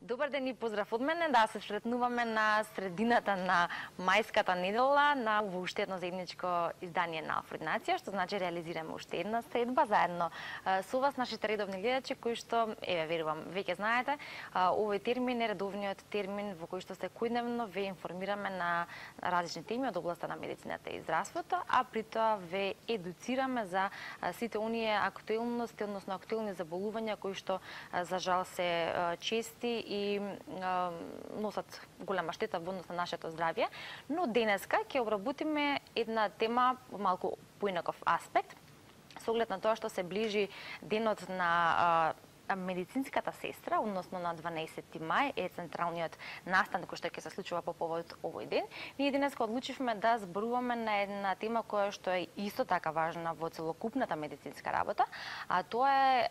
Добар ден и поздрав од мене. Да, се сретнуваме на средината на мајската недела на уште едно заедничко издание на Алфреднација, што значи реализираме уште една средба заедно со вас, нашите редовни гледачи, кои што, верувам, веќе знаете, овој термин е редовниот термин во кој што секојдневно ве информираме на различни теми од областа на медицината и здравството, а при тоа ве едуцираме за сите оние актуелности, односно актуелни заболувања кои што за жал се чести и носат голема штета во однос на нашето здравје, но денеска ќе обработиме една тема малку поинаков аспект, со оглед на тоа што се ближи денот на медицинската сестра, односно на 12 мај е централниот настан кој што ќе се случува по повод овој ден. Ние денеска одлучивме да зборуваме на една тема која што е исто така важна во целокупната медицинска работа, а тоа е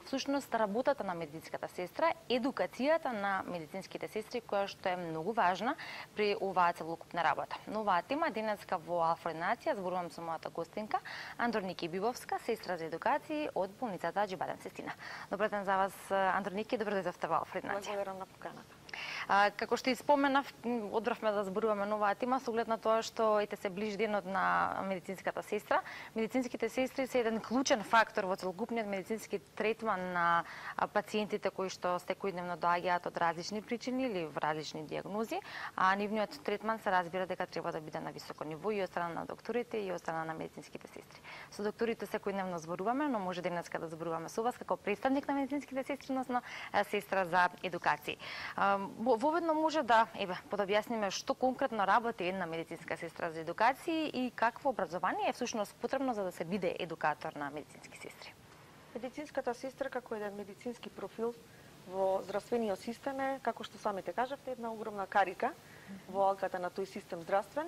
всушност работата на медицинската сестра, едукацијата на медицинските сестри која што е многу важна при оваа целокупна работа. Но оваа тема денеска во Алфреднација зборувам со мојата гостинка Андроники Бибовска, сестра за едукација од болницата Аџибаден Сестина. Добар ден за вас, Андроники, добро дојдовте во Алфреднација. Благодарам на поканата. Како што испоменав, одбравме да зборуваме на оваа тема со оглед на тоа што ете се ближи денот на медицинската сестра. Медицинските сестри се еден клучен фактор во целокупниот медицински третман на пациентите кои што секојдневно доаѓаат од различни причини или во различни дијагнози, а нивниот третман се разбира дека треба да биде на високо ниво и од страна на докторите и од страна на медицинските сестри. Со докторите секојдневно зборуваме, но може денеска да зборуваме со вас како представник на медицинските сестри, односно сестра за едукација. Воведно може да подобјасниме што конкретно работи една медицинска сестра за едукација и какво образование е всушност потребно за да се биде едукатор на медицински сестри. Медицинската сестра како еден медицински профил во здравствениот систем е, како што самите кажавте, една огромна карика во алката на тој систем здравствен.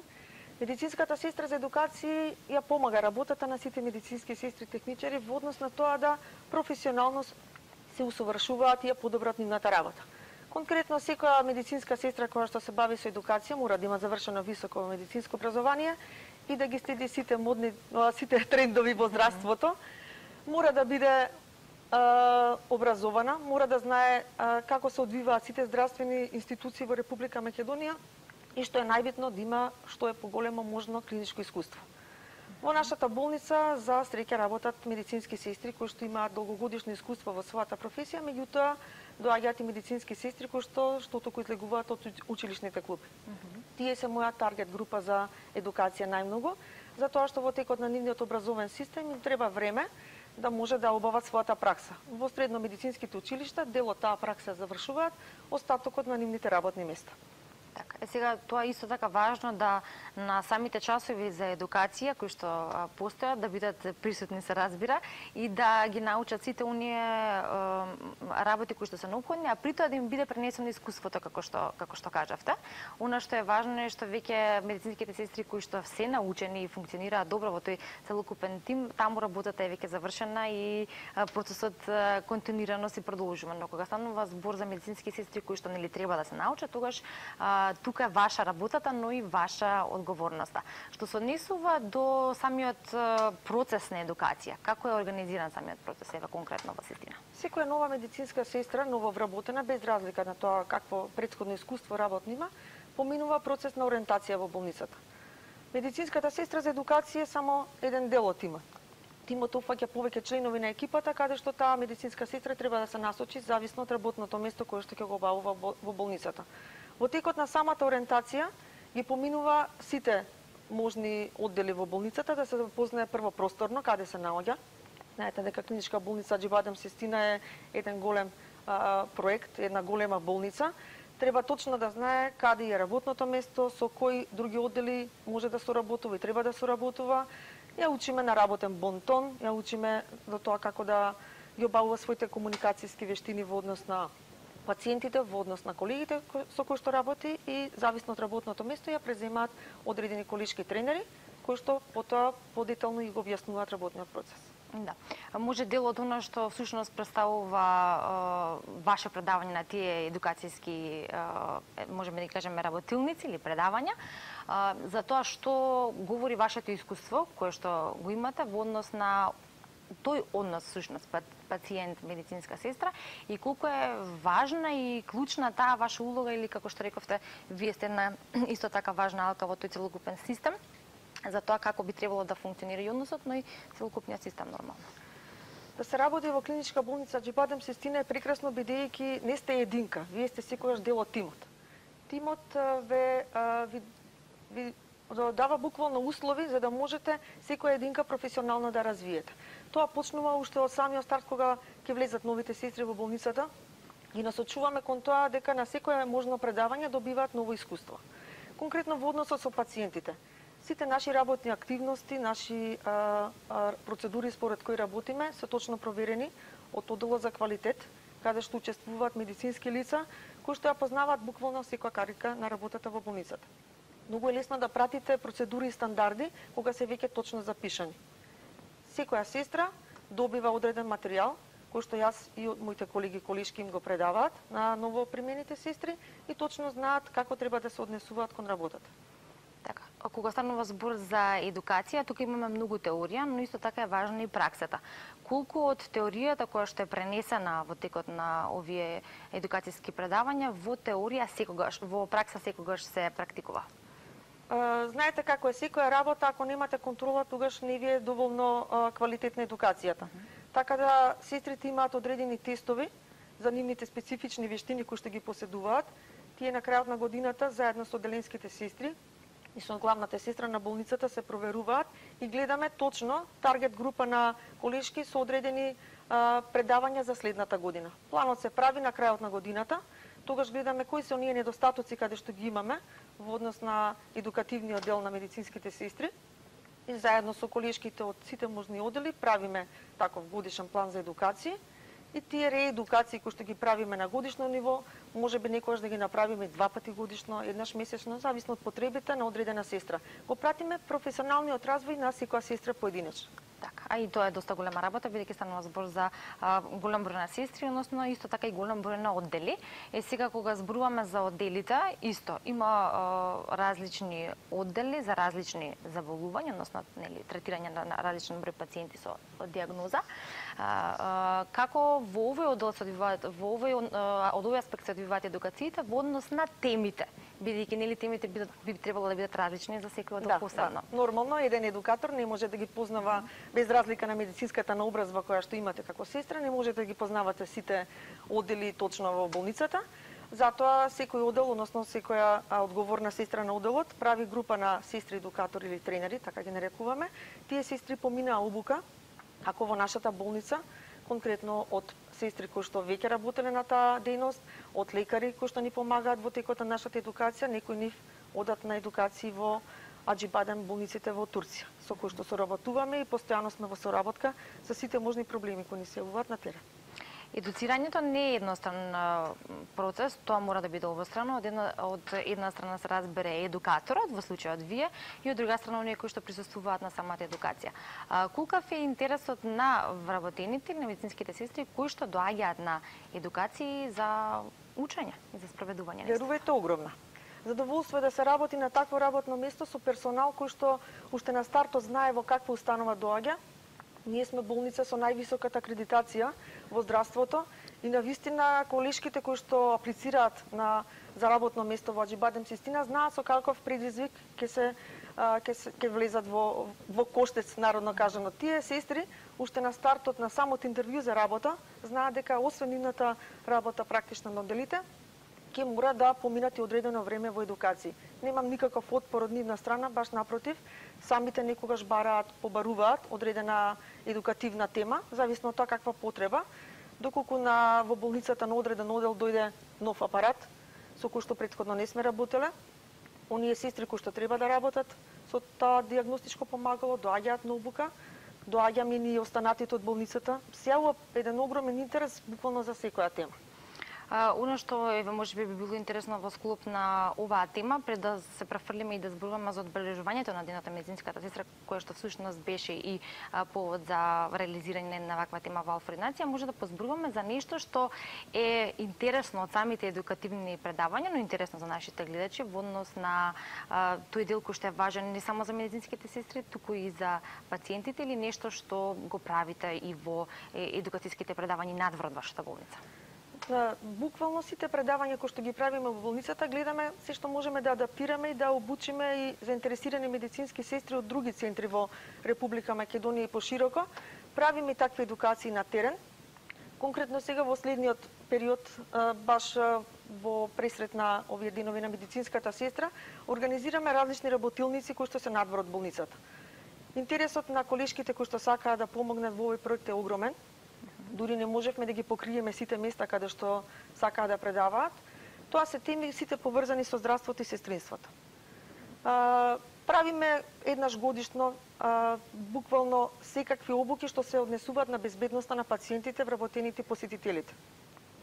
Медицинската сестра за едукација ја помага работата на сите медицински сестри и техничари во однос на тоа да професионално се усовршуваат и ја подобрат нивната работа. Конкретно, секоја медицинска сестра која што се бави со едукација мора да има завршено високо медицинско образование и да ги следи сите трендови во здравството. Мора да биде образована, мора да знае како се одвиваат сите здравствени институции во Република Македонија и што е најбитно да има што е поголемо можно клиничко искуство. Во нашата болница за среќа работат медицински сестри кои што имаат долгогодишно искуство во својата професија, меѓутоа доаѓаат и медицински сестри кои што току излегуваат од училишните клуби. Тие се моја таргет група за едукација најмногу, затоа што во текот на нивниот образовен систем им треба време да може да обават својата пракса. Во средно медицинските училишта дел од таа пракса завршуваат, остатокот на нивните работни места. Така, сега тоа исто така важно да на самите часови за едукација кои што постојат да бидат присутни, се разбира, и да ги научат сите оние работи кои што се необходни, а при тоа да им биде пренесено искуството како што кажавте. Она што е важно е што веќе медицинските сестри кои што се научени и функционираат добро во тој целокупен тим, таму работата е веќе завршена и процесот континуирано се продолжува. Но кога станува збор за медицински сестри кои што нели треба да се научат, тогаш тука е ваша работата, но и ваша одговорноста. Што се однесува до самиот процес на едукација, како е организиран самиот процес ева конкретно во Сестина? Секоја нова медицинска сестра, ново вработена, без разлика на тоа какво претходно искуство работно има, поминува процес на ориентација во болницата. Медицинската сестра за едукација е само еден дел од тимот. Тимот опфаќа повеќе членови на екипата, каде што таа медицинска сестра треба да се насочи зависно од работното место кое што ќе го обавува во болницата. Во текот на самата ориентација ги поминува сите можни оддели во болницата, да се запознае прво просторно каде се наоѓа. Знаете дека клиничка болница Аџибаден Сестина е еден голем проект, една голема болница. Треба точно да знае каде е работното место, со кои други оддели може да соработува и треба да соработува. Ја учиме на работен бонтон, ја учиме до тоа како да ги обавува своите комуникацијски вештини во однос на пациентите, во однос на колегите со кои што работи и зависно од работното место ја преземаат одредени колешки тренери кои што потоа подетално и го објаснуваат работниот процес. Да. Може дел од она што всушност представува ваше предавање на тие едукацијски, можеме да кажеме, работилници или предавања, за тоа што говори вашето искуство, кое што го имате во однос на тој однос, всушност, пациент медицинска сестра и колку е важна и клучна таа ваша улога или како што рековте, вие сте една исто така важна алка во тој целокупен систем за тоа како би требало да функционира и односот, но и целокупниот систем нормално. Да се работи во клиничка болница Аџибадем Систина е прекрасно бидејќи не сте единка, вие сте секогаш дел од тимот. Тимот ви дава буквално услови за да можете секоја единка професионално да развиете. Тоа почнува уште од самиот старт кога ќе влезат новите сестри во болницата. Ги насочуваме кон тоа дека на секое можно предавање добиваат ново искуство. Конкретно во односот со пациентите. Сите наши работни активности, наши процедури според кои работиме се точно проверени од одделот за квалитет, каде што учествуваат медицински лица кои што ја познаваат буквално секоја карика на работата во болницата. Многу е лесно да пратите процедури и стандарди кога се веќе точно запишани. Секоја сестра добива одреден материјал кој што јас и од моите колеги колешки им го предаваат на новопримените сестри и точно знаат како треба да се однесуваат кон работата. Така, кога станува збор за едукација, тука имаме многу теорија, но исто така е важна и праксата. Колку од теоријата која што е пренесена во текот на овие едукацијски предавања, во теорија секогаш, во пракса секогаш се практикува? Знаете како е секоја работа, ако немате контрола, тогаш не ви е доволно квалитетна едукацијата. Така да сестрите имаат одредени тестови за нивните специфични вештини кои што ги поседуваат. Тие на крајот на годината заедно со одделенските сестри и со главната сестра на болницата се проверуваат и гледаме точно таргет група на колешки со одредени предавања за следната година. Планот се прави на крајот на годината, тогаш гледаме кои се оние недостатоци каде што ги имаме во однос на едукативниот дел на медицинските сестри и заедно со колешките од сите можни оддели правиме таков годишен план за едукација и тие реедукации кои што ги правиме на годишно ниво, можеби некогаш да ги направиме 2 пати годишно, еднаш месечно, зависно од потребите на одредена сестра. Го пратиме професионалниот развој на секоја сестра поединечно. Така, а и тоа е доста голема работа, бидејќи станува збор за голем број на сестри, односно исто така и голем број на оддели. Сега кога зборуваме за одделите, исто има различни оддели за различни заболувања, односно нели третирање на различен број пациенти со дијагноза. Како во овој оддел се одвиваат, од овој аспект се одвиваат едукациите во однос на темите, бидејќи нели темите би требало да бидат различни за секој оддел посебно. Да. Нормално еден едукатор не може да ги познава без разлика на медицинската наобразба која што имате како сестра, не можете да ги познавате сите оддели точно во болницата. Затоа секој оддел, односно секоја одговорна сестра на одделот прави група на сестри едукатори или тренери, така ги нарекуваме. Тие сестри поминаа обука, ако во нашата болница, конкретно од сестри кои што веќе работеле на таа дејност, од лекари кои што ни помагаат во текот на нашата едукација, некои нив одат на едукации во Аџибадем болниците во Турција, со кои што соработуваме и постојано сме во соработка со сите можни проблеми кои ни се јавуваат на терен. Едуцирањето не е едностран процес, тоа мора да биде обострано. Од една страна се разбере едукаторот, во случајот вие, и од друга страна оние кои што присуствуваат на самата едукација. Колкав е интересот на вработените или на медицинските сестри кои што доаѓаат на едукации за учење и за спроведување? Верувајте, огромна. Задоволство е да се работи на такво работно место со персонал кој што уште на стартот знае во каква установа доаѓа. Ние сме болница со највисоката акредитација во здравството и навистина колешките кои што аплицираат за работно место во Аџибадем Систина знаат со каков предизвик ќе влезат во коштец, народно кажано. Тие сестри уште на стартот на самот интервју за работа знаат дека освен нивната работа практична на одделите, ќе мора да поминат и одредено време во едукации. Немам никаков отпор од нивна страна, баш напротив, самите некогаш побаруваат одредена едукативна тема, зависно од тоа каква потреба, доколку во болницата на одреден оддел дојде нов апарат, со кој што претходно не сме работеле, оние сестри кои што треба да работат со тоа дијагностичко помагало, доаѓаат на обука, доаѓаме и останатите од болницата, се јавува еден огромен интерес буквално за секоја тема. Оно што еве можеби би било интересно во склоп на оваа тема, пред да се префрлиме и да зборуваме за одбележувањето на денот на медицинската сестра, која што всушност беше и повод за реализирање на ваква тема во Алфреднација, може да позборуваме за нешто што е интересно од самите едукативни предавања, но интересно за нашите гледачи во однос на тој дел кој што е важен не само за медицинските сестри, туку и за пациентите, или нешто што го правите и во едукацијските предавања надвор од вашата болница? Буквално сите предавања кои што ги правиме во болницата, гледаме се што можеме да адаптираме и да обучиме и заинтересирани медицински сестри од други центри во Република Македонија и пошироко. Правиме такви едукации на терен. Конкретно сега во следниот период, баш во пресрет на овие денови на медицинската сестра, организираме различни работилници кои што се надвор од болницата. Интересот на колешките кои што сакаат да помогнат во овој проект е огромен. Дури не можевме да ги покриеме сите места каде што сакаат да предаваат. Тоа се теми сите поврзани со здравството и сестринството. Правиме еднаш годишно буквално секакви обуки што се однесуваат на безбедноста на пациентите, вработените посетителите.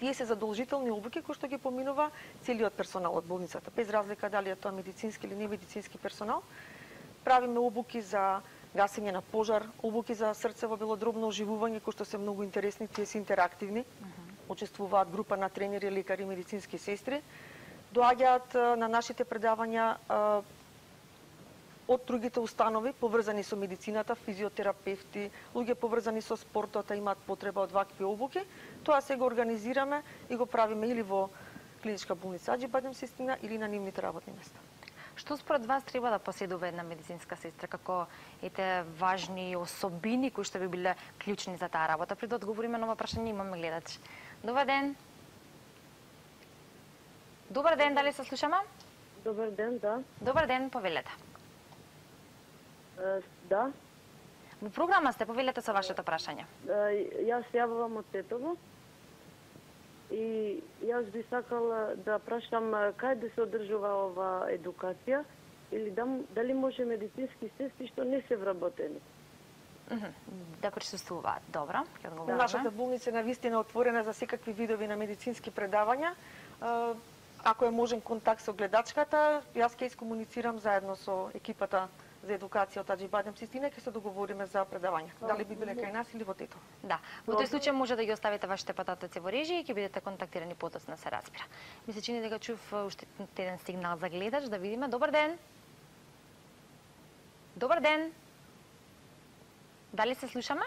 Тие се задолжителни обуки кои што ги поминува целиот персонал од болницата, без разлика дали е тоа медицински или немедицински персонал. Правиме обуки за гасење на пожар, обуки за срцево белодробно оживување, кои што се многу интересни, тие се интерактивни. Учествуваат група на тренери, лекари, медицински сестри. Доаѓаат на нашите предавања од другите установи поврзани со медицината, физиотерапевти, луѓе поврзани со спортот, имаат потреба од вакви обуки. Тоа се го организираме и го правиме или во клиничка болница Аџи Сестина или на нивните работни места. Што според вас треба да поседува една медицинска сестра, како важни особини кои што би биле клучни за таа работа? Пред да одговориме на ова прашање, имаме гледач. Добар ден. Добар ден, дали се слушаме? Добар ден, да. Добар ден, повелете. Да. Во програма сте, повелете со вашето прашање. Јас јавувам од Тетово. И јас би сакала да прашам кај да се одржува ова едукација или дали може медицински сестри што не се вработени? Да присуствуваат. Добро, ќе одговориме. Нашата болница е навистина отворена за секакви видови на медицински предавања. Ако е можен контакт со гледачката, јас ќе искомуницирам заедно со екипата за едукација од Аџи Сестина, ќе се договориме за предавања. Дали би биле кај нас или во Тетово. Да, во тој случај може да ги оставите вашите потатоци во режија и ќе бидете контактирани потоцна, се разбира. Ми се чини дека чув уште еден сигнал за гледач, да видиме. Добар ден. Добар ден. Дали се слушаме?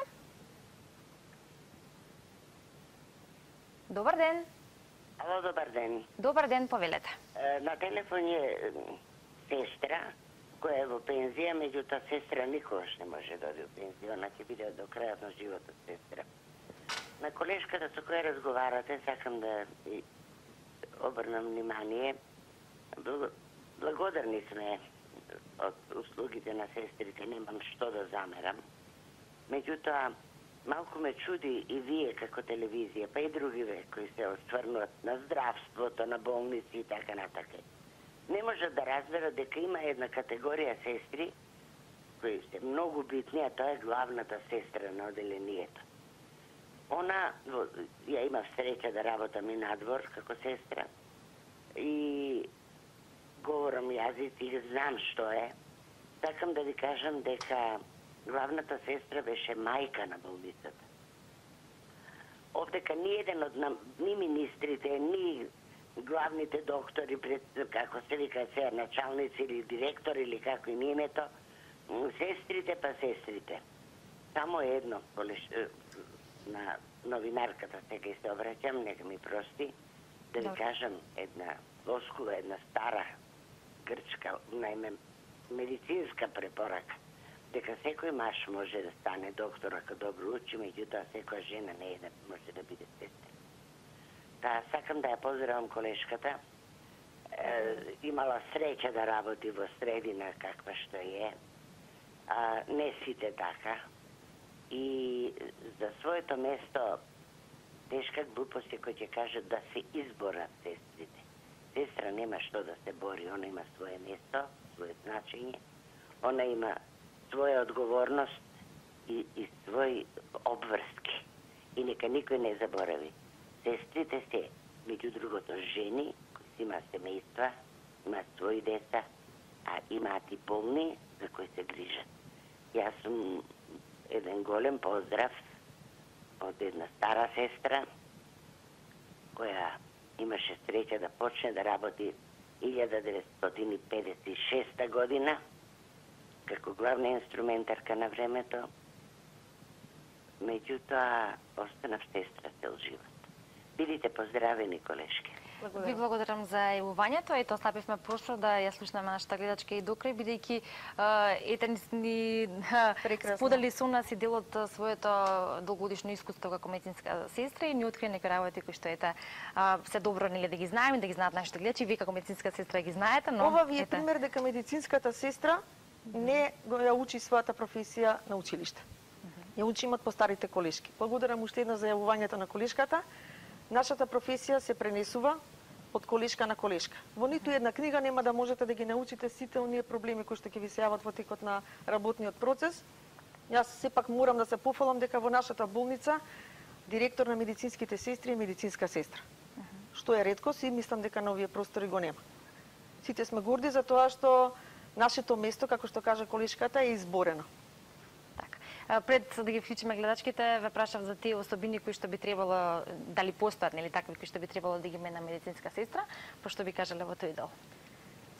Добар ден. Ало, добар ден. Добар ден, повелете. На телефон е сестра која е во пензија, меѓутоа сестра никогаш не може да оди во пензија, она ќе биде до крајот на животот сестра. На колешката со која разговарате, сакам да обрнам внимание. Благодарни сме од услугите на сестрите, немам што да замерам. Меѓутоа, малку ме чуди и вие како телевизија, па и други кои се осврнуват на здравството, на болници и така натака. Не може да разберат дека има една категорија сестри кои се многу битни, а тоа е главната сестра на оделението. Она, ја имав среќа да работам и надвор како сестра и говорам јазици и знам што е. Сакам да ви кажам дека главната сестра беше мајка на болницата. Овдека ни еден од ни министрите, ни главните доктори, како се вика се, началници или директори или како им името, сестрите па сестрите. Само едно, на новинарката сега и се обраќам, нека ми прости, да ви кажам една флоскула, една стара грчка, најме медицинска препорака, дека секој маж може да стане доктор ако добро учи, меѓутоа секоја жена не може да биде сестра. Та сакам да ја поздравам колешката. Имала среќа да работи во средина каква што е. Не сите така. И за своето место тешка глупост е кој ќе каже да се изборат сестрите. Сестра нема што да се бори, она има свое место, свое значење, она има своја одговорност и своји обврски. И нека никој не заборави. Сестрите се меѓу другото жени кои си имаат семејства, имаат своји деца, а имаат и болни за кои се грижат. Јас сум еден голем поздрав од една стара сестра која имаше среќа да почне да работи 1956 година како главна инструментарка на времето. Меѓутоа, останав сестра цел живот. Бидите поздравени, колешки. Ви благодарам за јавувањето. Ето, оставивме простор да ја слушнеме нашата гледачка и докрај, бидејќи ете ни сподели со нас и дел од своето долгогодишно искуство како медицинска сестра и ни откри некои работи кои што ете се добро нели да ги знаеме, да ги знаат нашите гледачи. Вие како медицинска сестра ги знаете, но ова ви е пример дека медицинската сестра не ја учи својата професија на училиште. Ја учиме од постарите колешки. Благодарам уште едно за јавувањето на колешката. Нашата професија се пренесува од колешка на колешка. Во ниту една книга нема да можете да ги научите сите оние проблеми кои што ќе ви се јават во текот на работниот процес. Јас сепак морам да се пофалам дека во нашата болница директор на медицинските сестри е медицинска сестра. Што е реткост и мислам дека на овие простори го нема. Сите сме горди за тоа што нашето место, како што кажа колешката, е изборено. Пред да ги вклучиме гледачките, ве прашав за тие особини кои што би требало, дали постојат, нели такви кои што би требало да ги има една медицинска сестра, пошто би кажале во тој дел.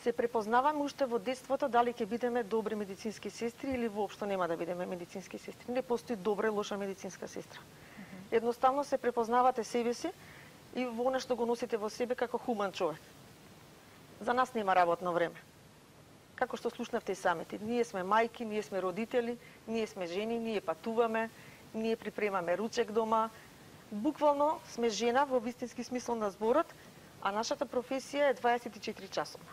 Се препознаваме уште во детството дали ќе бидеме добри медицински сестри или воопшто нема да бидеме медицински сестри. Не постои добра и лоша медицинска сестра. Едноставно се препознавате себе си и во она што го носите во себе како хуман човек. За нас нема работно време. Како што слушнавте и самите, ние сме мајки, ние сме родители, ние сме жени, ние патуваме, ние припремаме ручек дома. Буквално сме жена во вистински смисол на зборот, а нашата професија е 24 часовна.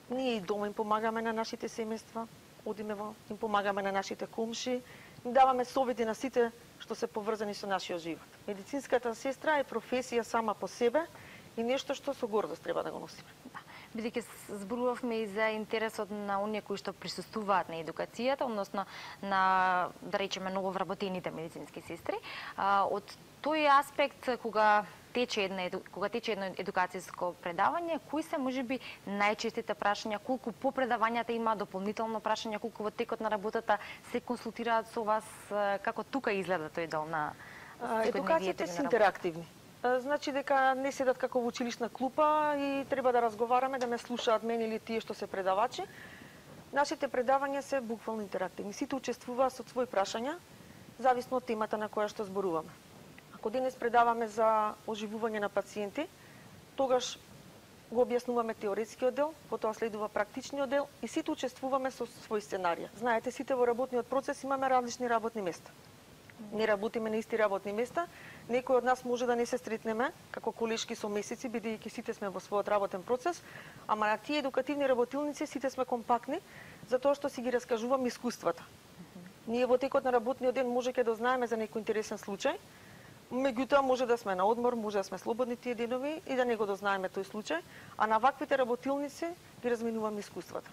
Ние и дома им помагаме на нашите семејства, одиме им помагаме на нашите комши, им даваме совети на сите што се поврзани со нашиот живот. Медицинската сестра е професија сама по себе и нешто што со гордост треба да го носиме. Бидејќи зборувавме и за интересот на оние кои што присуствуваат на едукацијата, односно на, да речеме, нововработените медицински сестри, од тој аспект кога тече едно едукацијско предавање, кои се можеби најчестите прашања, колку по предавањата има дополнително прашања, колку во текот на работата се консултираат со вас, како тука изгледа тој дел на едукацијата се интерактивни. Значи дека не седат како во училишна клупа и треба да разговараме, да ме слушаат мене или тие што се предавачи. Нашите предавања се буквално интерактивни. Сите учествуваат со своји прашања, зависно од темата на која што зборуваме. Ако денес предаваме за оживување на пациенти, тогаш го објаснуваме теоретскиот дел, потоа следува практичниот дел и сите учествуваме со свој сценарија. Знаете, сите во работниот процес имаме различни работни места. Не работиме на исти работни места. Некој од нас може да не се сретнеме како колешки со месеци, бидејќи сите сме во својот работен процес, ама на тие едукативни работилници сите сме компактни, затоа што си ги раскажуваме искуствата. Ние во текот на работниот ден може ќе дознаеме за некој интересен случај, меѓутоа може да сме на одмор, може да сме слободни тие денови и да не го дознаеме тој случај, а на ваквите работилници ги разменуваме искуствата.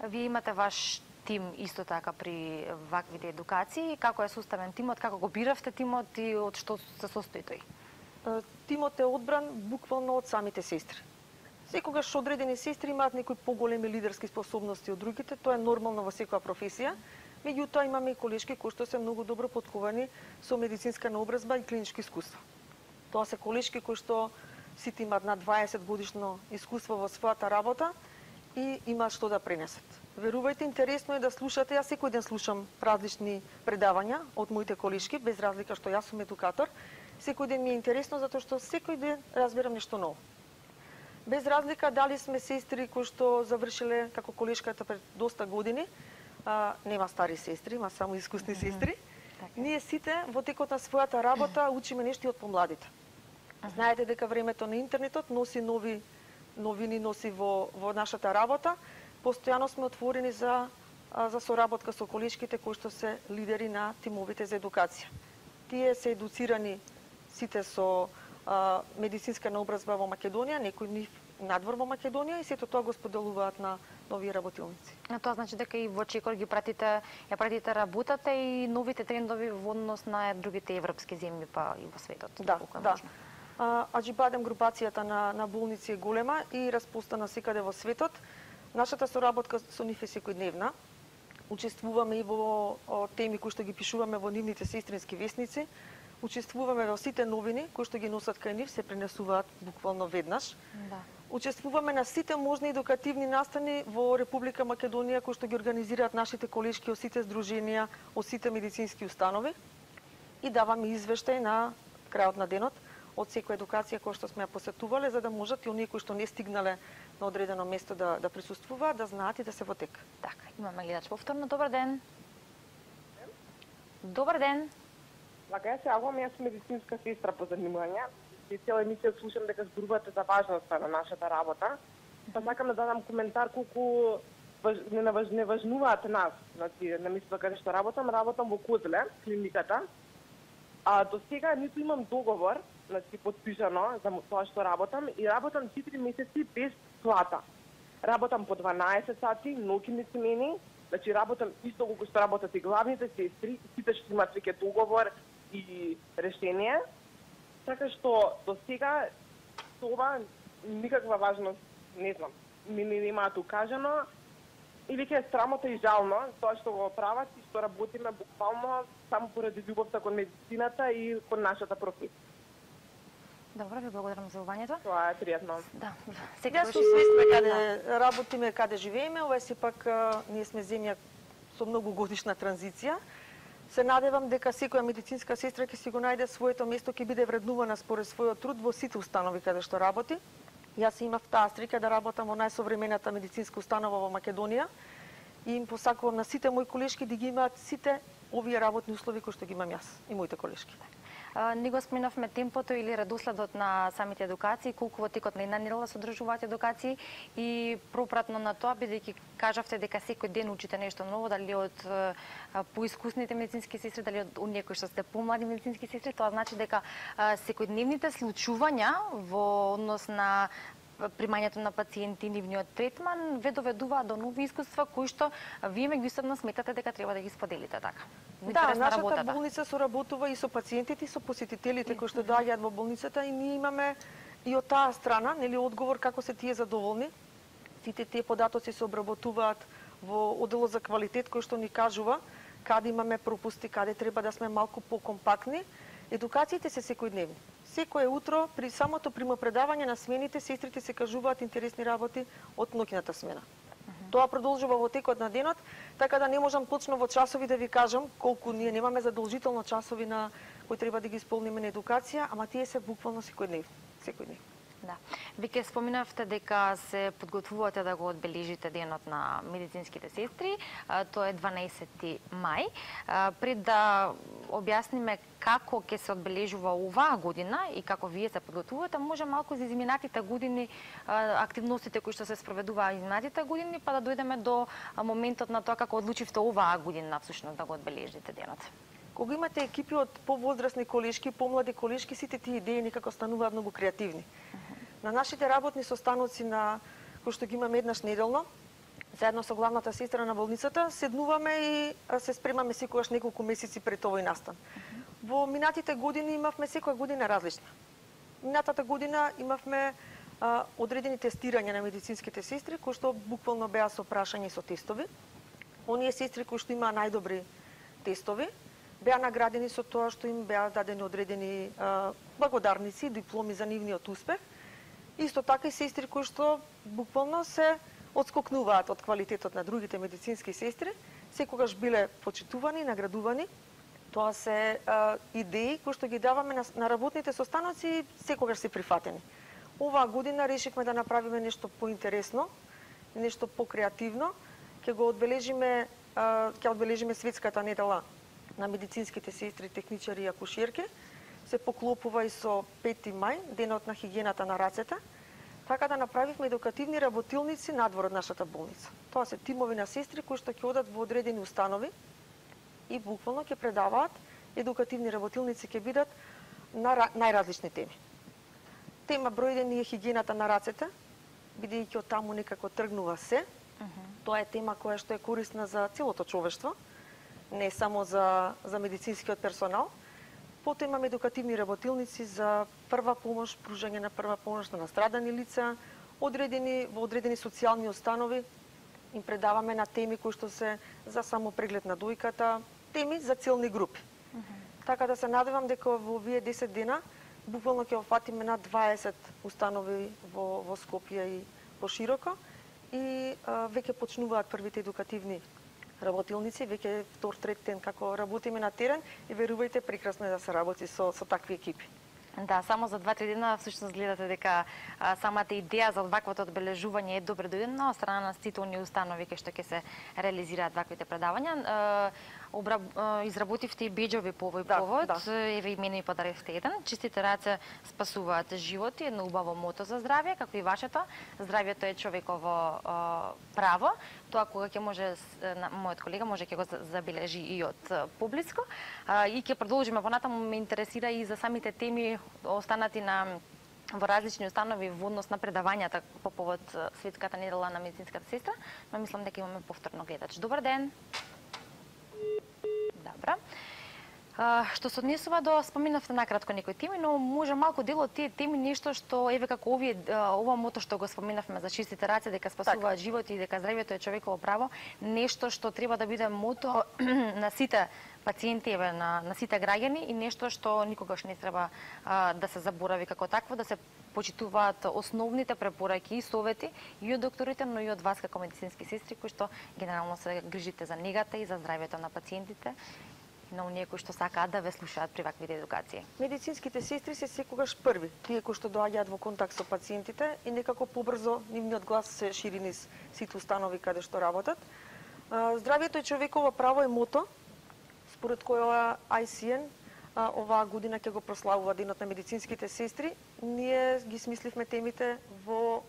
Вие имате ваш тим исто така при ваквите едукации, како е составен тимот, како го биравте тимот и од што се состои тој? Тимот е одбран буквално од самите сестри. Секогаш одредени сестри имаат некои поголеми лидерски способности од другите, тоа е нормално во секоја професија. Меѓутоа имаме и колешки кои што се многу добро потковани со медицинска наобразба и клиничко искуство. Тоа се колешки кои што сите имаат над 20 годишно искуство во својата работа и имаат што да пренесат. Верувајте, интересно е да слушате. Јас секој ден слушам различни предавања од моите колешки, без разлика што јас сум едукатор. Секој ден ми е интересно затоа што секој ден разбирам нешто ново. Без разлика дали сме сестри кои што завршиле како колешката пред доста години, нема стари сестри, има само искусни сестри. Ние сите во текот на својата работа учиме нешто од помладите. Знаете дека времето на интернетот носи нови новини, носи во нашата работа. Постојано сме отворени за соработка со колешките кои што се лидери на тимовите за едукација. Тие се едуцирани сите со медицинска наобразба во Македонија, некои нив надвор во Македонија и сето тоа го споделуваат на нови работилници. Тоа значи дека и во Чекор ги пратите, ја пратите работата и новите трендови во однос на другите европски земји па и во светот. Да. Аџибадем групацијата на болници е голема и распостана секаде во светот. Нашата соработка со нив е секојдневна. Учествуваме и во теми кои што ги пишуваме во нивните сестрински весници. Учествуваме во сите новини кои што ги носат кај нив, се пренесуваат буквално веднаш. Да. Учествуваме на сите можни едукативни настани во Република Македонија кои што ги организираат нашите колешки од сите здруженија, од сите медицински установи и даваме извештај на крајот на денот од секоја едукација која што сме ја посетувале, за да можат и оние кои што не стигнале на одредено место да присуствуваат, да знаат и да се во тек. Така, имаме гледач повторно. Добар ден. Добар ден. Вака ја се јавувам, јас сум медицинска сестра по занимање. И цела емисија слушам дека зборувате за важноста на нашата работа. Па сакам да дадам коментар колку не важнуваат нас. Значи, на местото каде што работам во Козле, клиниката. А до сега ниту имам договор, значи подпишано за тоа што работам и работам 4 месеци без плата. Работам по 12 сати, ноќни смени, значи работам исто колку што работат и главните сестри, сите што имаат веќе договор и решение. Така што до сега тоа никаква важност, не знам, ми немаат укажано и веќе е срамота и жално тоа што го прават и што работиме буквално само поради љубовта кон медицината и кон нашата професија. Добро, ви благодарам за јавувањето. Тоа е пријатно. Да. Сега сум свесна каде работиме, каде живееме, ова е сепак ние сме земја со многу годишна транзиција. Се надевам дека секоја медицинска сестра ќе си го најде своето место, ќе биде вреднувана според својот труд во сите установи каде што работи. Јас имав таа среќа да работам во најсовремената медицинска установа во Македонија и им посакувам на сите мои колешки да ги имаат сите овие работни услови кои што ги имам јас и моите колешки. Не го споменавме темпото или редоследот на самите едукации, колку во текот на една недела се одржуваат едукации и пропратно на тоа, бидејќи кажавте дека секој ден учите нешто ново, дали од поискусните медицински сестри, дали од оние кои што сте помлади медицински сестри, тоа значи дека секојдневните случувања во однос на примањето на пациенти, нивниот третман, ве доведуваат до нови искуства кои што вие меѓусебно сметате дека треба да ги споделите, така? Да, нашата болница соработува и со пациентите и со посетителите кои што доаѓаат во болницата и ние имаме и од таа страна, нели, одговор како се тие задоволни. Сите тие податоци се обработуваат во одделот за квалитет кој што ни кажува каде имаме пропусти, каде треба да сме малку покомпактни. Едукациите се секојдневни. Секое утро при самото примопредавање на смените сестрите се кажуваат интересни работи од ноќната смена. Тоа продолжува во текот на денот, така да не можам точно во часови да ви кажам колку ние немаме задолжително часови на кои треба да ги исполниме на едукација, ама тие се буквално секојдневни. Да. Веќе споминавте дека се подготвувате да го одбележите денот на медицинските сестри, тоа е 12 мај. Пред да објасниме како ќе се одбележува оваа година и како вие се подготвувате, може малку за изминатите години, активностите кои што се спроведуваа изминатите години, па да дојдеме до моментот на тоа како одлучивте оваа година всушност да го одбележите денот. Кога имате екипи од повозрастни колешки, помлади колешки, сите тие идеи некако стануваат многу креативни. На нашите работни состаноци кои што ги имаме еднаш неделно, заедно со главната сестра на болницата, седнуваме и се спремаме секогаш неколку месеци пред овој настан. Во минатите години имавме секоја година различна. Минатата година имавме одредени тестирања на медицинските сестри, кои што буквално беа со прашања и со тестови. Оние сестри кои што имаа најдобри тестови, беа наградени со тоа што им беа дадени одредени благодарници, дипломи за нивниот успех. Исто така и сестри кои што буквално се одскокнуваат од квалитетот на другите медицински сестри, секогаш биле почитувани, наградувани. Тоа се идеи кои што ги даваме на работните состаноци и секогаш се прифатени. Оваа година решивме да направиме нешто поинтересно, нешто покреативно. Ќе одбележиме светската недела на медицинските сестри, техничари и акушерки. Се поклопува и со 5 мај, денот на хигиената на рацете, така да направивме едукативни работилници надвор од нашата болница. Тоа се тимови на сестри кои што ќе одат во одредени установи и буквално ќе предаваат едукативни работилници, ќе бидат на најразлични теми. Тема број 1 е хигиената на рацете, бидејќи од таму некако тргнува се. Тоа е тема која што е корисна за целото човештво, не само за медицинскиот персонал. Потоа имаме едукативни работилници за прва помош, пружање на прва помош на настрадани лица, во одредени социјални установи. Им предаваме на теми кои што се за самопреглед на дојката, теми за целни групи. Така да се надевам дека во овие 10 дена буквално ќе опфатиме над 20 установи во Скопје и пошироко и веќе почнуваат првите едукативни работилници, веќе втор, трет ден како работиме на терен и верувајте, прекрасно е да се работи со такви екипи. Да, само за 2-3 дена всушност гледате дека самата идеја за ваквото одбележување е добре дојдена од страна на сите оние установи кај што ќе се реализираат ваквите предавања. Изработивте и беџови по овој повод, еве и мене ми подаривте еден. Чистите раце спасуваат животи, едно убаво мото за здравје, како и вашето. Здравјето е човеково право. Тоа кога ќе може, мојот колега може ќе го забележи и од поблиско. И ќе продолжиме понатаму, ме интересира и за самите теми останати во различни установи во однос на предавањата по повод Светската недела на медицинската сестра, но мислам дека имаме повторно гледач. Добар ден. Добра. Што се однесува до, споменавте накратко некои теми, но може малку дел од тие теми нешто што еве како ова мото што го споменавме за чистите раце, дека спасуваат животи и дека здравјето е човеково право, нешто што треба да биде мото на сите пациенти, еве на сите граѓани и нешто што никогаш не треба да се заборави како такво, да се почитуваат основните препораки и совети и од докторите, но и од вас како медицински сестри кои што генерално се грижите за негата и за здравјето на пациентите на оние кои што сакаат да ве слушаат при ваквите едукации. Медицинските сестри се секогаш први, тие кои што доаѓаат во контакт со пациентите и некако побрзо нивниот глас се шири низ сите установи каде што работат. Здравјето е човеково право е мото, според која ICN оваа година ќе го прославува Денот на медицинските сестри. Ние ги смисливме темите во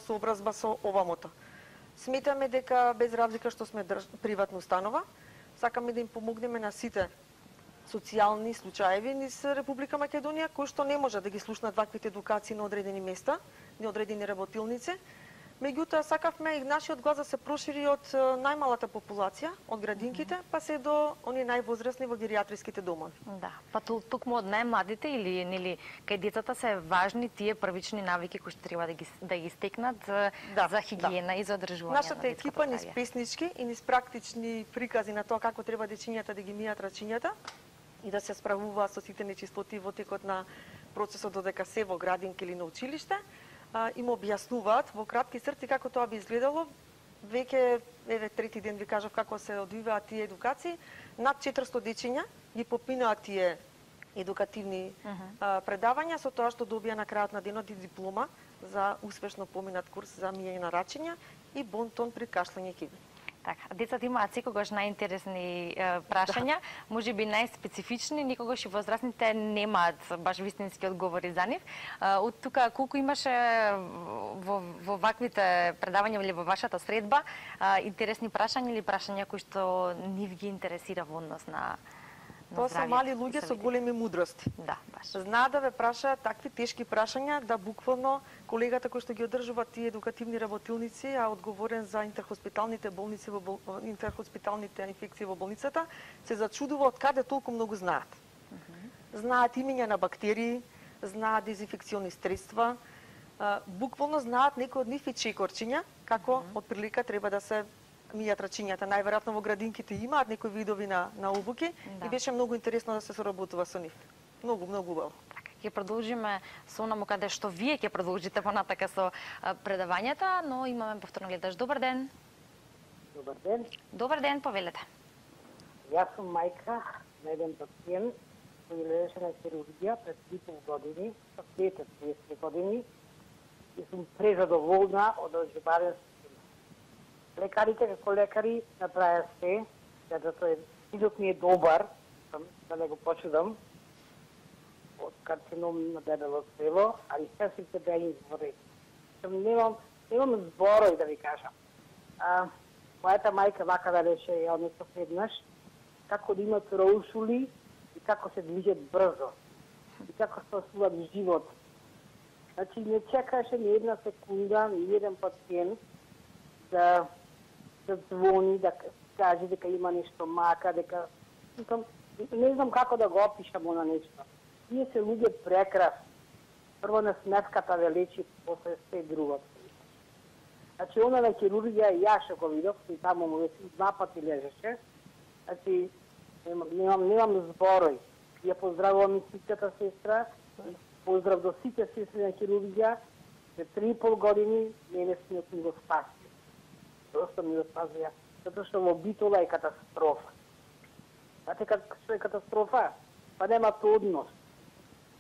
сообразба со ова мото. Сметаме дека без разлика што сме приватна установа, сакаме да им помогнеме на сите социјални случаеви низ Република Македонија, кои што не може да ги слушнат ваквите едукации на одредени места, на одредени работилници. Меѓутоа, сакавме и нашиот глас да се прошири од најмалата популација, од градинките, па се до оние највозрасни во гериатриските домови. Да, па токму од најмладите или нели кај децата се важни тие првични навики кои што треба да ги стекнат за хигиена и за одржување. Нашата екипа низ песнички и низ практични прикази на тоа како треба дечињата да ги мијат рачињата и да се справуваат со сите нечистоти во текот на процесот додека се во градинка или на училиште, им објаснуваат во кратки црти како тоа би изгледало. Веќе еве трети ден ви кажав како се одвиваат тие едукации. Над 400 дечиња ги попинаат тие едукативни предавања со тоа што добија на крајот на денот и диплома за успешно поминат курс за мијање на рачиња и бонтон при кашлење и киви. Така, децата имаат секогаш најинтересни прашања, можеби најспецифични, никогаш и возрастните немаат баш вистински одговори за нив. Од тука колку имаше во ваквите предавања или во вашата средба интересни прашања или прашања кои што нив ги интересира во однос на Тоа се мали луѓе со големи мудрости. Да, баш. Знаат да ве прашаат такви тешки прашања да буквално колегата кој што ги одржува тие едукативни работилници, а одговорен за интерхоспиталните болници интерхоспиталните инфекции во болницата, се зачудува од каде толку многу знаат. Знаат имиња на бактерии, знаат дезинфекциони средства, буквално знаат некои од нив и чекорчиња, како од прилика треба да се мијат рачињата. Најверојатно во градинките имаат некои видови на обуки и беше многу интересно да се соработува со нив. Многу убаво. Ќе продолжиме со онаму каде што вие ќе продолжите понатака со предавањата, но имаме повторно гледач. Добар ден. Добар ден. Добар ден, повелете. Јас сум мајка на еден пациент кој лежеше на хирургија пред 3,5 години, со 30 години, и сум презадоволна од оживарен. Лекарите како лекари направија се, да тој синот ми е добар, да не го почудам, од карцином на дебело црево, али сестрите беа изворени. Немам зборови да ви кажам. Мојата мајка вака да рече, ја однесов еднаш, како да имат роушули и како се движат брзо. И како спасуват живот. Значи, не чекаше ни една секунда, ни еден пациент да звони, да каже дека има нешто мака, дека не знам како да го опишам она нешто. Тие се луѓе прекрасни. Прво на сметката ве лечи, после се друго. Значи, она на хирургија, ја што го видов, и таму му веќе 2 пати лежеше. Значи, немам зборој. Ја поздравувам медицинската сестра, поздрав до сите сестри на хирургија, за 3,5 години мене синот ми го спаси. Просто ми го спаси, затоа што во Битола е катастрофа. Знаете што е катастрофа? Па немат однос.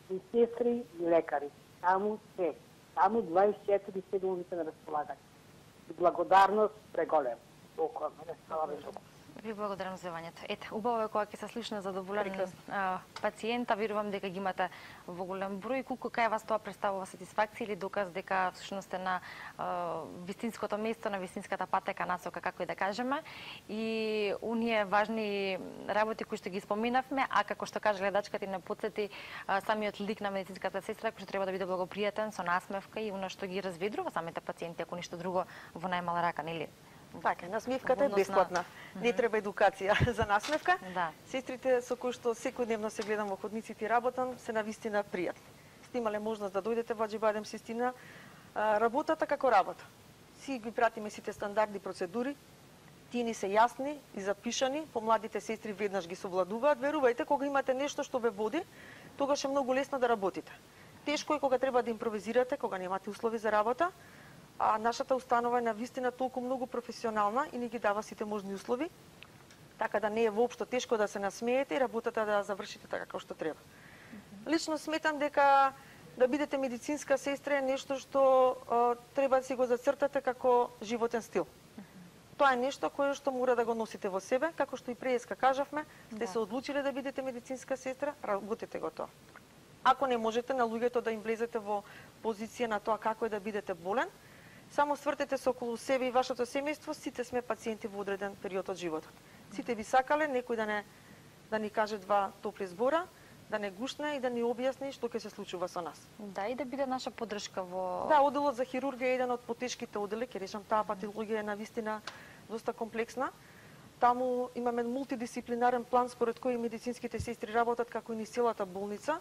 И сестри и лекари. Таму се. Таму 24/7 се на располагање. И благодарност преголем. Толкова мене става толкова. Ви благодарам за јавањето. Ете, убаво е кога ќе се слушне задоволен пациента, верувам дека ги имате во голем број. Колку кај вас тоа представува сатисфакција или доказ дека всушност е на вистинското место, на вистинската патека насока, како и да кажеме. И оние важни работи кои што ги споменавме, а како што кажа гледачката и не потсети самиот лик на медицинската сестра, кој што треба да биде благопријатен, со насмевка и она што ги разведрува самите пациенти, ако ништо друго во најмала рака, нели? Така, насмевката е бесплатна. Не треба едукација за насмевка. Да. Сестрите со кои што секојдневно се гледам во ходниците и работам, се навистина пријатни. Сте имале можност да дојдете во Аџибадем Систина. Работата како работа. Си ги пратиме сите стандарди, процедури. Тие ни се јасни и запишани, помладите сестри веднаш ги совладуваат. Верувајте, кога имате нешто што ве води, тогаш е многу лесно да работите. Тешко е кога треба да импровизирате, кога немате услови за работа. А нашата установа е навистина толку многу професионална и ни ги дава сите можни услови, така да не е воопшто тешко да се насмеете и работата да завршите така како што треба. Лично сметам дека да бидете медицинска сестра е нешто што треба да си го зацртате како животен стил. Тоа е нешто кое што мора да го носите во себе, како што и преска кажавме, сте се одлучиле да бидете медицинска сестра, работете го тоа. Ако не можете на луѓето да им влезете во позиција на тоа како е да бидете болен, само свртете се околу себе и вашето семејство, сите сме пациенти во одреден период од животот. Сите би сакале некој да ни каже 2 топли збора, да не гушне и да ни објасни што ќе се случува со нас. Да, и да биде наша поддршка во... Да, оделот за хирургија е еден од потешките одели, ќе речам, таа патологија е навистина доста комплексна. Таму имаме мултидисциплинарен план според кој медицинските сестри работат како и низ целата болница,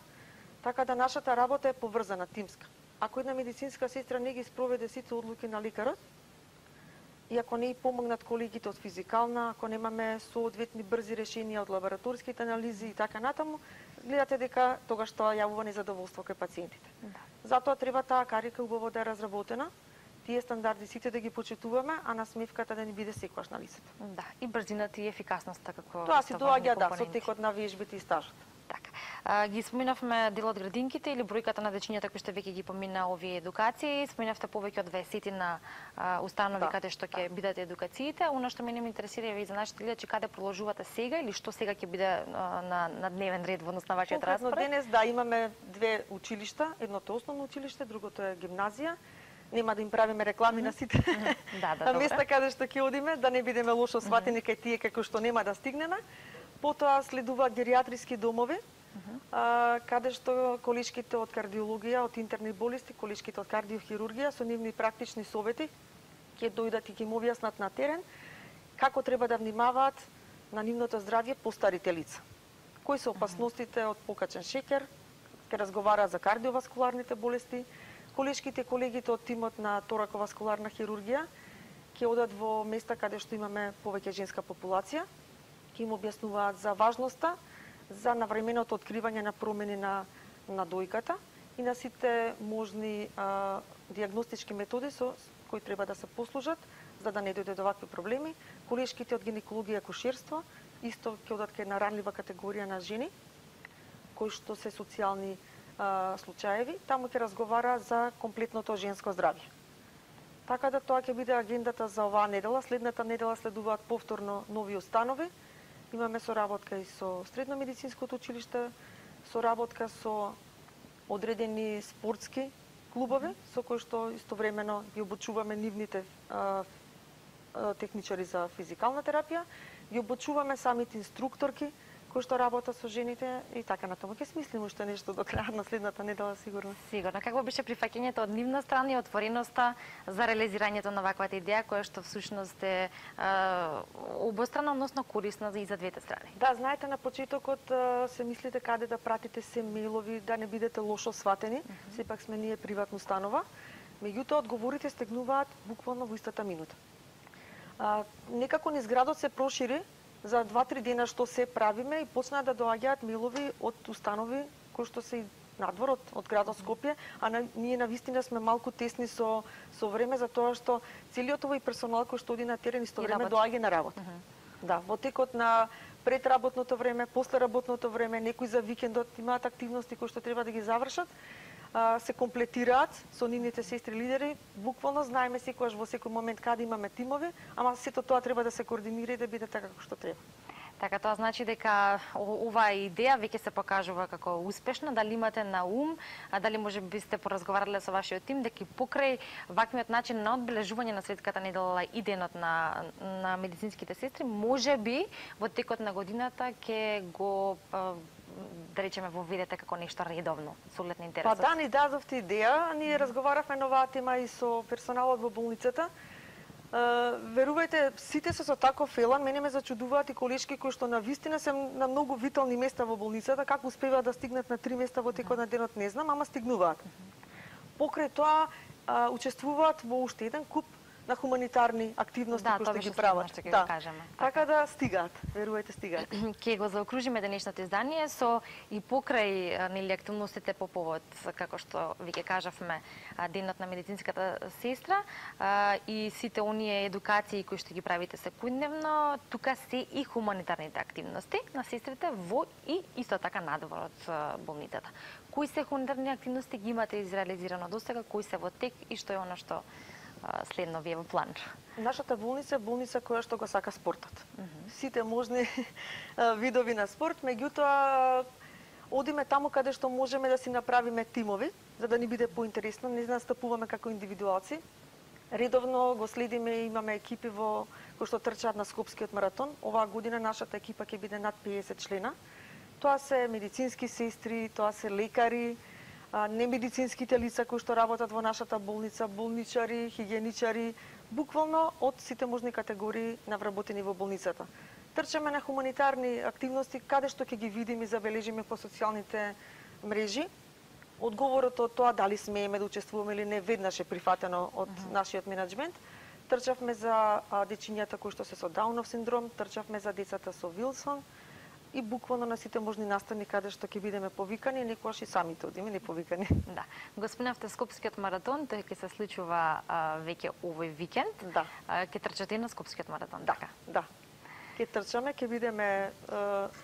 така да нашата работа е поврзана, тимска. Ако една медицинска сестра не ги спроведе сите одлуки на лекарот, и ако не и помогнат колегите од физикална, ако немаме соодветни брзи решенија од лабораторските анализи и така натаму, гледате дека тогаш тоа јавува незадоволство кај пациентите. Да. Затоа треба таа карика убаво да е разработена, тие стандарди сите да ги почитуваме, а насмевката да ни биде секогаш на лицето. Да, и брзината и ефикасноста како... Тоа си доаѓа со текот на вежбите и стажот. Така. Ги споменавме дел од градинките или бројката на дечињата кои што веќе ги помина овие едукации. Споменавте повеќе од 20 на установи каде што ќе бидат едукациите. Оно што мене ме интересира и за нашите гледачи, каде продолжувате сега или што сега ќе биде на дневен ред во однос на вашиот распоред? Денес имаме 2 училишта, едното основно училиште, другото е гимназија. Нема да им правиме реклами на сите места каде што ќе одиме, да не бидеме лошо сватени кај тие како што нема да стигнеме. Потоа следуваат гериатриски домови, каде што колешките од кардиологија, од интерни болести, колешките од кардиохирургија со нивни практични совети ќе дојдат и ќе им објаснат на терен како треба да внимаваат на нивното здравје постарите лица. Кои се опасностите од покачен шеќер, ќе разговара за кардиоваскуларните болести, колешките колегите од тимот на тораковаскуларна хирургија ќе одат во места каде што имаме повеќе женска популација, ќе им објаснуваат за важноста, за навременото откривање на промени на дојката и на сите можни диагностички методи со кои треба да се послужат за да не дојде до вакви проблеми. Колешките од гинекологија и акушерство исто ќе одат кај една ранлива категорија на жени кои што се социјални случаеви, таму ќе разговара за комплетното женско здравје. Така да тоа ќе биде агендата за оваа недела. Следната недела следуваат повторно нови установи. Имаме соработка и со Средно медицинското училиште, соработка со одредени спортски клубови, со кои што истовремено ги обучуваме нивните техничари за физикална терапија, ги обучуваме самите инструкторки кои што работат со жените и така натаму. Ќе смислиме уште нешто до крајот на следната недела сигурно. Сигурно. Какво беше прифаќањето од нивна страна и отвореноста за реализирањето на ваквата идеја која што всушност е обострана, односно корисна и за двете страни? Да, знаете, на почетокот се мислите каде да пратите се мејлови, да не бидете лошо сватени. Сепак сме ние приватна установа. Меѓутоа, одговорите стигнуваат буквално во истата минута. Некако низ градот се прошири за 2-3 дена што се правиме и почнаа да доаѓаат мејлови од установи кои што се надвор од градот Скопје, ние навистина сме малку тесни со време за тоа што целиот овој персонал кој што оди на терен исто време доаѓа на работа. Да, во текот на предработното време, после работното време, некои за викендот имаат активности кои што треба да ги завршат, се комплетираат со нивните сестри лидери. Буквално знаеме секогаш во секој момент каде имаме тимови, ама сето тоа треба да се координира и да биде така како што треба. Така, тоа значи дека оваа идеја веќе се покажува како успешна, дали имате на ум, дали може би сте поразговарале со вашиот тим, дека покрај ваквиот начин на одбележување на светската недела и денот на медицинските сестри, може би во текот на годината ќе го да речеме воведете како нешто редовно, со оглед на интересот. Па да, ни дадовте идеја, ние разговаравме на оваа тема и со персоналот во болницата. Верувајте, сите се со таков елан, мене ме зачудуваат и колешки кои што навистина се на многу витални места во болницата, како успеваат да стигнат на 3 места во текот на денот не знам, ама стигнуваат. Покрај тоа учествуваат во уште еден куп на хуманитарни активности кои што ги прават. Да, така да стигаат, верувајте стигаат. Ќе го заокружиме денешното издание со и покрај нели активностите по повод, како што веќе кажавме, денот на медицинската сестра и сите оние едукации кои што ги правите секојдневно, тука се и хуманитарните активности на сестрите во и исто така надвор од болницата. Кои се хуманитарни активности ги имате изреализирано досега, кои се во тек и што е она што следно ви е во план? Нашата болница е болница која што го сака спортот. Сите можни видови на спорт, меѓутоа одиме таму каде што можеме да си направиме тимови, за да ни биде поинтересно, не настапуваме како индивидуалци. Редовно го следиме, имаме екипи кои што трчаат на Скопскиот маратон. Оваа година нашата екипа ќе биде над 50 члена. Тоа се медицински сестри, тоа се лекари, немедицинските лица кои што работат во нашата болница, болничари, хигиеничари, буквално од сите можни категории на вработени во болницата. Трчаме на хуманитарни активности каде што ќе ги видиме и забележиме по социјалните мрежи. Одговорот од тоа дали смееме да учествуваме или не веднаш е прифатено од нашиот менеджмент. Трчавме за дечињата кои што се со Даунов синдром, трчавме за децата со Вилсон, и буквално на сите можни настани каде што ќе бидеме повикани, некогаш и самите одиме неповикани. Да. Го спомнавте Скопскиот маратон, тој ќе се случува веќе овој викенд. Да. Ќе трчате на Скопскиот маратон, да, така? Да. Ќе трчаме, ќе бидеме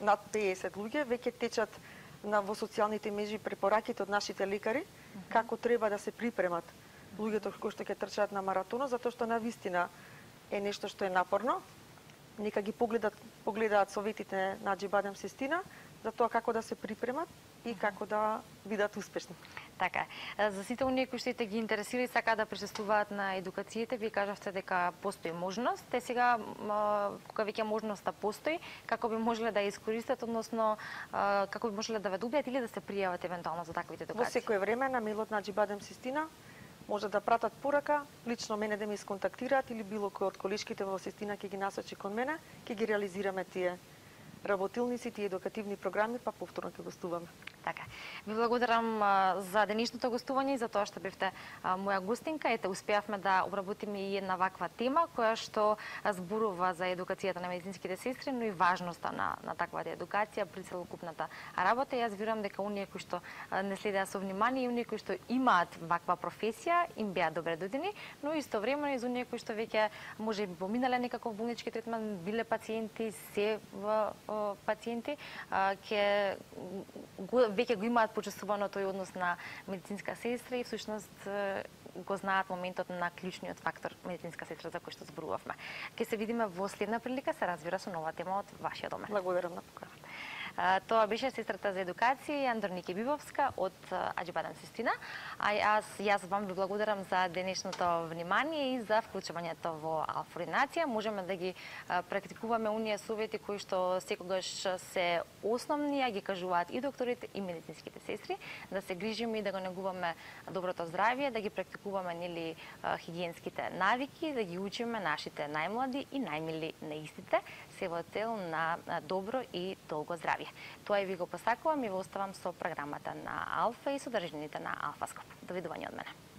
над 50 луѓе, веќе течат во социјалните мрежи препораките од нашите лекари како треба да се припремат луѓето кои што ќе трчаат на маратонот, затоа што навистина е нешто што е напорно. Нека ги погледаат советите на Аџибадем Систина за тоа како да се припремат и како да бидат успешни. Така е. За сите оние кои што ги интересира и сакаат да присуствуваат на едукациите, вие кажавте дека постои можност. Те сега, кога веќе можноста постои, како би можеле да ја искористат, односно како би можеле да ве добијат или да се пријават евентуално за таквите едукации? Во секое време на мејлот на Аџибадем Систина може да пратат порака, лично мене да ме исконтактираат или било кој од колешките во Систина ќе ги насочи кон мене, ќе ги реализираме тие работилници, тие едукативни програми, па повторно ќе гостуваме. Така. Ви благодарам за денешното гостување и за тоа што бевте моја гостинка. Ете, успеавме да обработиме и една ваква тема која што зборува за едукацијата на медицинските сестри, но и важноста на таквата едукација при целокупната работа. Јас верувам дека оние кои што не следеа со внимание и оние кои што имаат ваква професија им беа добре додени, но истовремено и за оние кои што веќе може би поминале некаков болнички третман, биле пациенти, се пациенти, веќе го имаат почувствувано тој однос на медицинска сестра и всушност го знаат моментот на клучниот фактор медицинска сестра за кој што зборувавме. Ќе се видиме во следна прилика, се разбира, со нова тема од вашиот домен. Благодарам на поканата. Тоа беше сестрата за едукација Андроника Бибовска од Аџибадан Систина. А јас вам ви благодарам за денешното внимание и за вклучувањето во алфа-ординација. Можеме да ги практикуваме оние совети кои што секогаш се основни, а ги кажуваат и докторите и медицинските сестри, да се грижиме и да го негуваме доброто здравје, да ги практикуваме нели хигиенските навики, да ги учиме нашите најмлади и најмили на истите, се во цел на добро и долго здравје. Тоа и ви го посакувам и во оставам со програмата на Алфа и содржините на Алфаскоп. Довидување од мене.